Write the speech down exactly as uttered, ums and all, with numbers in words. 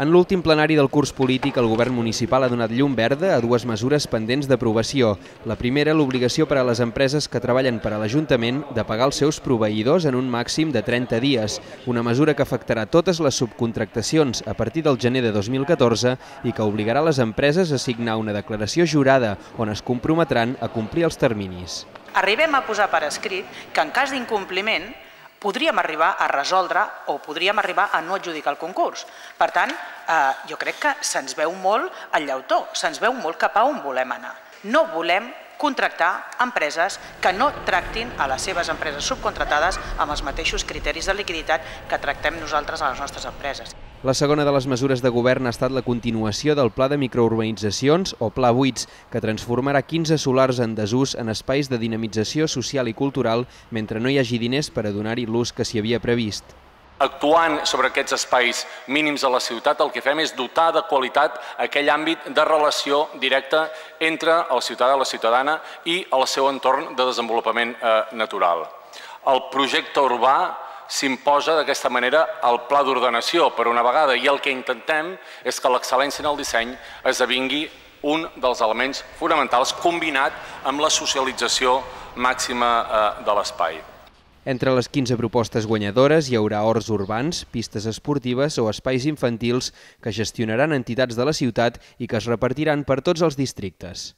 En l'últim plenari del curs polític, el govern municipal ha donat llum verda a dues mesures pendents d'aprovació. La primera, l'obligació per a les empreses que treballen per a l'Ajuntament de pagar els seus proveïdors en un màxim de trenta dies, una mesura que afectarà totes les subcontractacions a partir del gener de dos mil catorze i que obligarà les empreses a signar una declaració jurada on es comprometran a complir els terminis. Arribem a posar per escrit que en cas d'incompliment podríem arribar a resoldre o podríem arribar a no adjudicar el concurs. Per tant, jo crec que se'ns veu molt el llautó, se'ns veu molt cap a on volem anar. No volem contractar empreses que no tractin a les seves empreses subcontratades amb els mateixos criteris de liquiditat que tractem nosaltres a les nostres empreses. La segona de les mesures de govern ha estat la continuació del Pla de Microurbanitzacions, o Pla buits, que transformarà quinze solars en desús en espais de dinamització social i cultural mentre no hi hagi diners per a donar-hi l'ús que s'hi havia previst. Actuant sobre aquests espais mínims a la ciutat, el que fem és dotar de qualitat aquell àmbit de relació directa entre el ciutadà i la ciutadana i el seu entorn de desenvolupament natural. El projecte urbà s'imposa d'aquesta manera al pla d'ordenació per una vegada i el que intentem és que l'excel·lència en el disseny esdevingui un dels elements fonamentals combinat amb la socialització màxima de l'espai. Entre les quinze propostes guanyadores hi haurà horts urbans, pistes esportives o espais infantils que gestionaran entitats de la ciutat i que es repartiran per tots els districtes.